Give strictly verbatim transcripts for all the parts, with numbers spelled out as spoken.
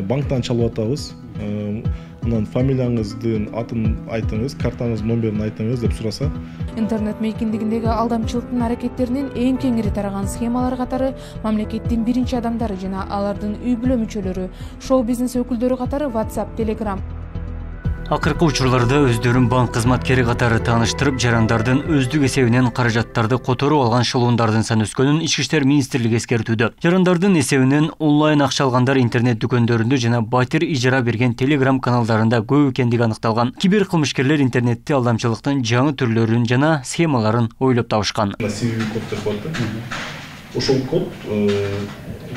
банктан чалып атабыз. Анан фамилияңыздын атын айтыңыз, картаңыздын номерин айтыңыз деп сураса. Интернет мейкиндигиндеги алдамчылыктын аракеттеринин эң кеңири тараган схемалар катары мамлекеттин биринчи адамдары жана алардын үй бүлө мүчөлөрү, шоу-бизнес өкүлдөрү катары WhatsApp, Telegram. Акыркы учурларда өздөрүн банк кызматкери катары тааныштырып, жарандардын өздүк эсебинен каражаттарды которуп алган шылуундардын саны өскөнүн Ички иштер министрлиги эскертүүдө. Жарандардын эсебинен онлайн акча алгандар интернет дүкөндөрүндө жана батир ижара берген Telegram каналдарында көп экендиги аныкталган. Кибер кылмышкерлер интернетте алдамчылыктын жаңы түрлөрүн жана схемаларын ойлоп табышкан. Ошол код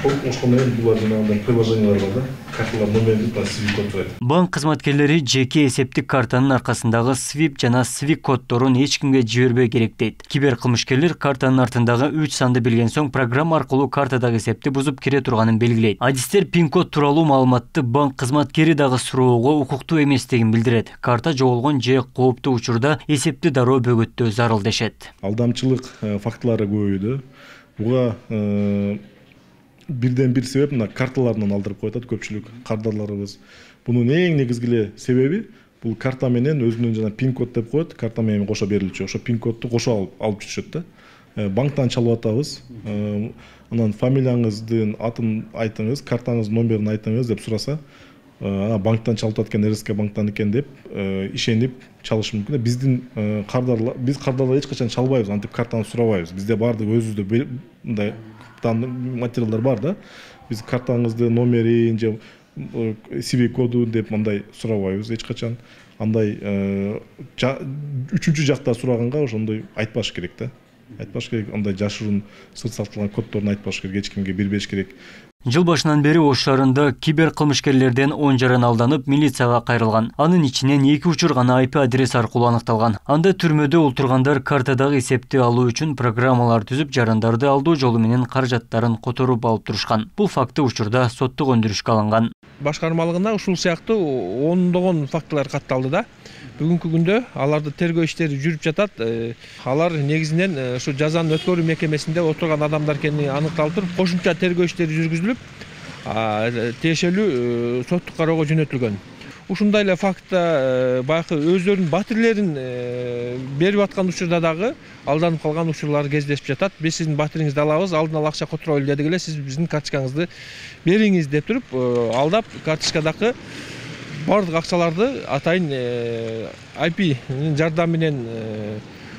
ошол менен булар жанагындай приложениялар бар да, карталар номерин свип код турат. Банк кызматкерлери жеке эсептик картанын аркасындагы свип жана свик коддорун эч кимге жибербей керек дейт. Кибер кылмышкерлер картанын артындагы үч санды билген соң программа аркылуу картадагы эсепти бузуп кире турганын белгилейт. Адистер пин-код тууралуу маалыматты банк кызматкери дагы суроого укуктуу эместигин билдирет. Карта жоголгон же кооптуу учурда эсепти дароо бөгөттөө зарыл дешет. Алдамчылык фактылары көбөйдү. Буга бирден бир себеп мына карталарынан алдырып коюп атат көпчүлүк кардарларыбыз. Бунун эң негизги себеби бул карта менен өзүнүн жана пин-код деп коет, карта менен кошо берилчү. Ошо пин-кодду кошо алып алып жүрүшөт да. Банктан чалып атабыз. Анан фамилияңыздын атын айтыңыз, картаңыздын номерин айтыңыз деп сураса, банктан чалып аткан эр эс ка банктан экен деп ишенип чалышы мүмкүн. Биздин кардарлар, биз кардарлар эч качан чалбайбыз, антип картаны сурабайбыз. Бизде баардык өзүбүздө мындай материалдар бар да. Биз картаңызды номерин же свик коду деп мындай сурабайбыз эч качан. Андай үчүнчү жакта сураганга ошондой айтпаш керек да. Айтпаш керек, андай жашыруун сыр сакталган коддорун айтпаш керек, эч кимге бербеш керек. Жыл башынан бери Ош шаарында кибер кылмышкерлерден он жаран алданып милицияга кайрылган. Анын ичинен эки учур гана ай пи адрес аркылуу аныкталган. Анда түрмөдө олтургандар картадагы эсепти алуу үчүн программалар түзүп, жарандарды алдоо жолу менен каражаттарын которуп алып турушкан. Бул факты учурда соттук өндүрүшкө алынган. Башкармалыгына ушул сыяктуу ондогон фактылар катталды да. Бүгүнкү күндө аларды тергөө иштери жүрүп жатат. Алар негизинен ушу жазаны өткөрүү мекемесинде отурган адамдар экени аныкталып туруп, кошумча тергөө иштери жүргүзүлүп, тиешелүү соттук кароого жөнөтүлгөн. Ушундай эле фактта баягы өздөрүнүн батирлерин берип аткан учурда дагы алданып калган учурлар кездешип жатат. Биз сиздин батириңизди алабыз, алдын ала акча которолу дедик эле, сиз биздин карточкаңызды бериңиз деп туруп, алдап карточкадагы бардык акчаларды атайын ай пинин жардамы менен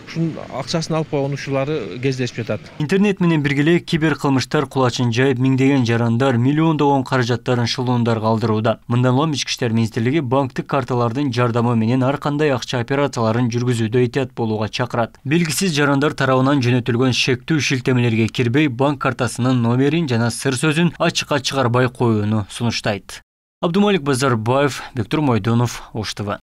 ушунун акчасын алып койгон учурлары кездешип жатат. Интернет менен биргеле кибер кылмыштар кулачын жайып, миңдеген жарандар миллиондогон каражаттарын шылуундарга алдырууда. Мындан улам Ички иштер министрлиги банктык карталардын жардамы менен ар кандай акча операцияларын жүргүзүүдө этият болууга чакырат. Белгисиз жарандар тарабынан жөнөтүлгөн шектүү шилтемелерге кирбей, банк картасынын номерин жана сыр сөзүн ачыкка чыгарбай коюуну сунуштайт. Абдумалик Базарбаев, Бектур Мойдонов, Ош Т В.